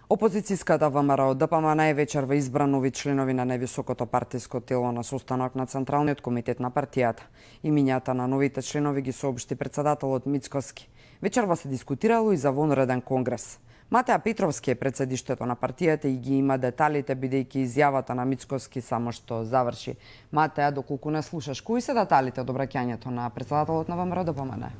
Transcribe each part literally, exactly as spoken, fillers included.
Опозицијската ВМРО ДПМН вечерва избра нови членови на највисокото партиско тело на состанок на Централниот комитет на партијата. Имињата на новите членови ги соопшти председателот Мицковски. Вечерва се дискутирало и за вонреден конгрес. Матеа Петровски е пред седиштето на партијата и ги има деталите, бидејќи изјавата на Мицковски само што заврши. Матеа, доколку не слушаш, кои се деталите од обраќањето на председателот на ВМРО ДПМН?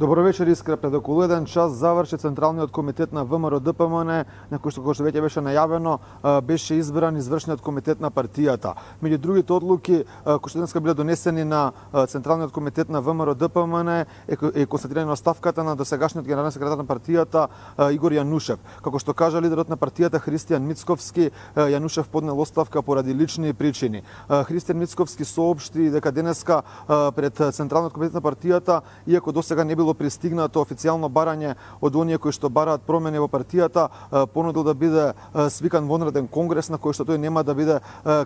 Добро вечер, Искра. Пред околу еден час заврши Централниот комитет на ВМРО ДПМН, на кој што, кој што веќе беше најавено, беше избран извршниот комитет на партијата. Меѓу другите одлуки кои што денеска биле донесени на Централниот комитет на ВМРО ДПМН е констатирано оставката на досегашниот генерален секретар на партијата Игор Јанушев. Како што кажа лидерот на партијата Христијан Мицковски, Јанушев поднел оставка поради лични причини. Христијан Мицковски соопшти дека денеска пред Централниот комитет на партијата, иако досега не било пристигнато официјално барање од оние кои што бараат промени во партијата, понудил да биде свикан вонреден конгрес на кој што тој нема да биде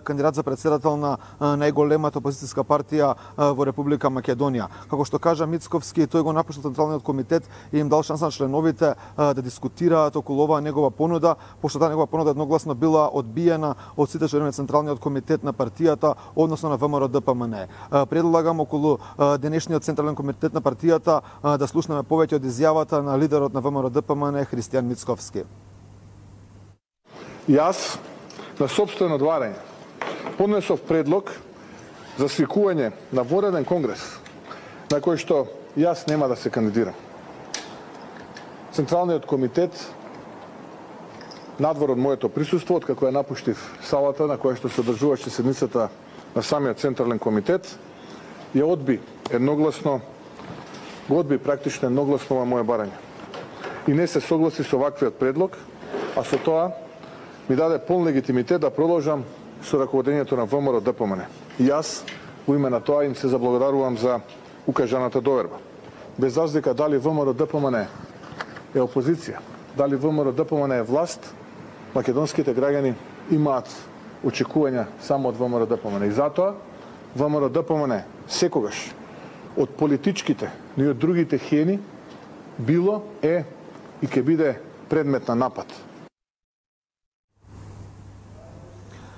кандидат за председател на најголемата опозицијска партија во Република Македонија. Како што кажа Мицковски, тој го напушти Централниот комитет и им дал шанса на членовите да дискутираат околу оваа негова понуда, пошто таа негова понуда едногласно била одбиена од сите членови на Централниот комитет на партијата, односно на ВМРО ДПМН. Предлагам околу денешниот Централен комитет на партијата да слушнеме повеќе од изјавата на лидерот на ВМРО ДПМН Христијан Мицковски. Јас, на сопствено одварање, поднесов предлог за свикување на вонреден конгрес, на кој што јас нема да се кандидирам. Централниот комитет, надвор од моето присуство, откако ја напуштив салата на која што се одржуваше седницата на самиот Централен комитет, ја одби едногласно го одби практично едногласно ова моје барање. И не се согласи со ваквиот предлог, а со тоа ми даде полн легитимитет да продолжам со раководењето на ВМРО ДПМН. И јас, во име на тоа, им се заблагодарувам за укажаната доверба. Без разлика дали ВМРО ДПМН е опозиција, дали ВМРО ДПМН е власт, македонските граѓани имаат очекувања само од ВМРО ДПМН. И затоа ВМРО ДПМН секогаш од политичките, но и од другите хени, било, е и ќе биде предмет на напад.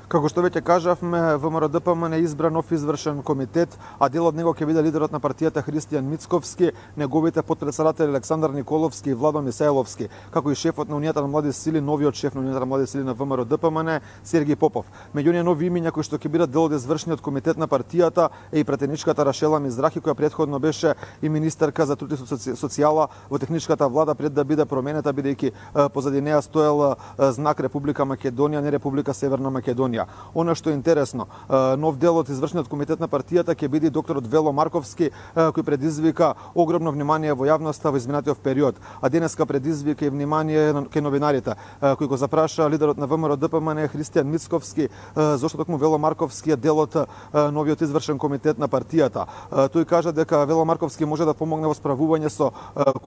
Како што веќе кажавме, ВМРО ДПМН е избран нов извршен комитет, а дел од него ќе биде лидерот на партијата Христијан Мицковски, неговите потпредседатели Александар Николовски и Владо Мисајловски, како и шефот на Унијата на млади сили, новиот шеф на Унијата на млади сили на ВМРО ДПМН Сергеј Попов. Меѓу оние нови имиња кои што ќе бидат дел од извршниот комитет на партијата е и претеничката Рашела Мизрахи, која претходно беше и министерка за труд и социјала во техничката влада пред да биде променета, бидејќи позади неа стоел знак Република Македонија, не Република Северна Македонија. Оно што е интересно, нов дел од извршниот комитет на партијата ќе биде докторот Вело Марковски, кој предизвика огромно внимание во јавноста во изминатиот период, а денеска предизвика и внимание кај новинарите, кој го запраша лидерот на ВМРО ДПМН Христијан Мицковски зошто токму Вело Марковски е дел од новиот извршен комитет на партијата. Тој кажа дека Вело Марковски може да помогне во справување со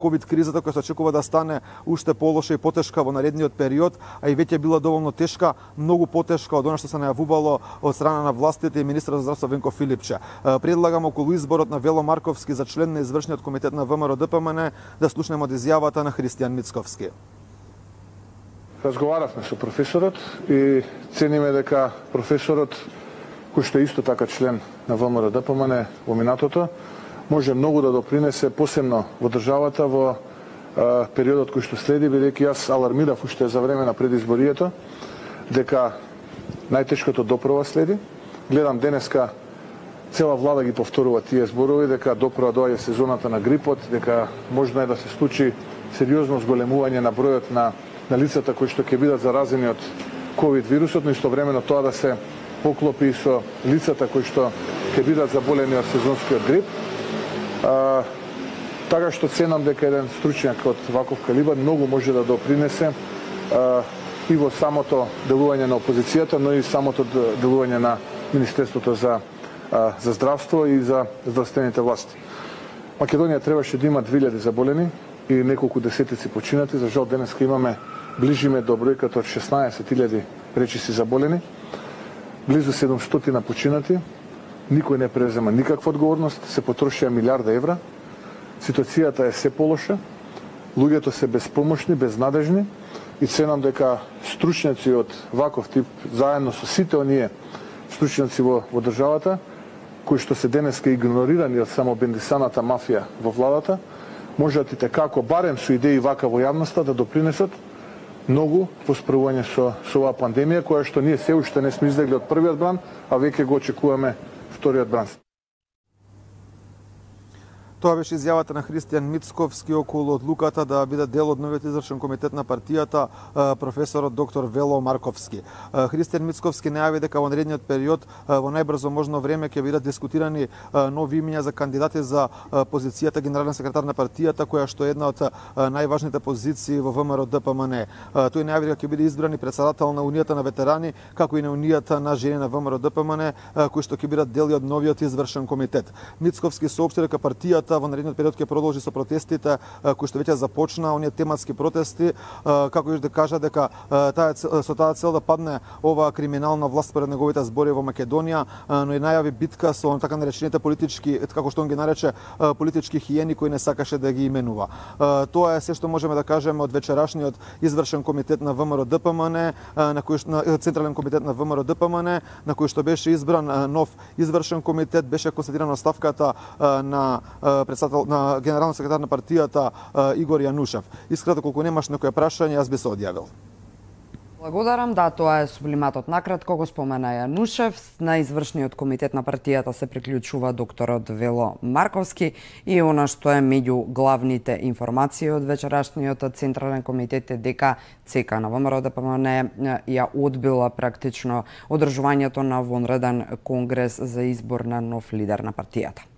ковид кризата која се очекува да стане уште полоша и потешка во наредниот период, а и веќе била доволно тешка, многу потешка од она што се најавувало од страна на властите и министерот за здравство Венко Филипче. Предлагам околу изборот на Вело Марковски за член на извршниот комитет на ВМРО ДПМН да слушнеме од изјавата на Христијан Мицковски. Разговаравме со професорот и цениме дека професорот, кој што е исто така член на ВМРО ДПМН во минатото, може многу да допринесе посебно во државата во а, периодот кој што следи, бидејќи јас алармирав уште за време на предизборието дека најтешкото доправа следи. Гледам денеска цела влада ги повторува тие зборови дека доправа доаѓа сезоната на грипот, дека можно е да се случи сериозно зголемување на бројот на, на лицата кои што ќе бидат заразени од ковид вирусот, но истовремено тоа да се поклопи со лицата кои што ќе бидат заболени од сезонскиот грип. А, така што ценам дека еден стручњак од ваков калибар многу може да допринесе а, и во самото делување на опозицијата, но и самото делување на Министерството за, за здравство и за здравствените власти. Македонија требаше да има две илјади заболени и неколку десетици починати. За жал денеска имаме, ближиме до бројката од шеснаесет илјади речиси заболени, близу седумстотина починати, никој не презема никаква одговорност, се потрошија милиарда евра, ситуацијата е се полоша, луѓето се безпомошни, безнадежни и ценам дека стручњаци од ваков тип, заедно со сите оние стручњаци во, во државата, кои што се денеска игнорирани од само бендисаната мафија во владата, можат и како барем со идеи вака во јавноста да допринесат многу во справување со, со оваа пандемија, која што ние се уште не сме излегли од првиот бран, а веќе го очекуваме вториот бран. Тоа беше изјавата на Христијан Мицковски околу одлуката да биде дел од новиот извршен комитет на партијата професорот доктор Вело Марковски. Христијан Мицковски најави дека во наредниот период во најбрзо можно време ќе бидат дискутирани нови имиња за кандидати за позицијата генерален секретар на партијата, која што е една од најважните позиции во ВМРО Д П М Н. Тој најави дека ќе биде избран и председател на Унијата на ветерани, како и на Унијата на жени на ВМРО Д П М Н, кои што ќе бидат дели од новиот извршен комитет. Мицковски соопшти дека партијата во наредниот период ќе продолжи со протестите кои што веќе започна, оние тематски протести, како и да кажа дека таа со таа цел да падне оваа криминална власт според неговите збори во Македонија, но и најави битка со така наречените политички, како што он ги нарече, политички хиени кои не сакаше да ги именува. Тоа е се што можеме да кажеме од вечерашниот извршен комитет на ВМРО Д П М Н, на кој на централен комитет на ВМРО Д П М Н, на кој што беше избран нов извршен комитет, беше констатирана оставката на председател на генерален секретар на партијата Игор Јанушев. Искрено, колку немаш некој прашање, јас би се одјавил. Благодарам, да, тоа е сублиматот. Накратко го спомена Јанушев, на извршниот комитет на партијата се приклучува докторот Вело Марковски и она што е меѓу главните информации од вечерашниот централен комитет е дека ЦК на ВМРО Д П М Н ја одбила практично одржувањето на вонреден конгрес за избор на нов лидер на партијата.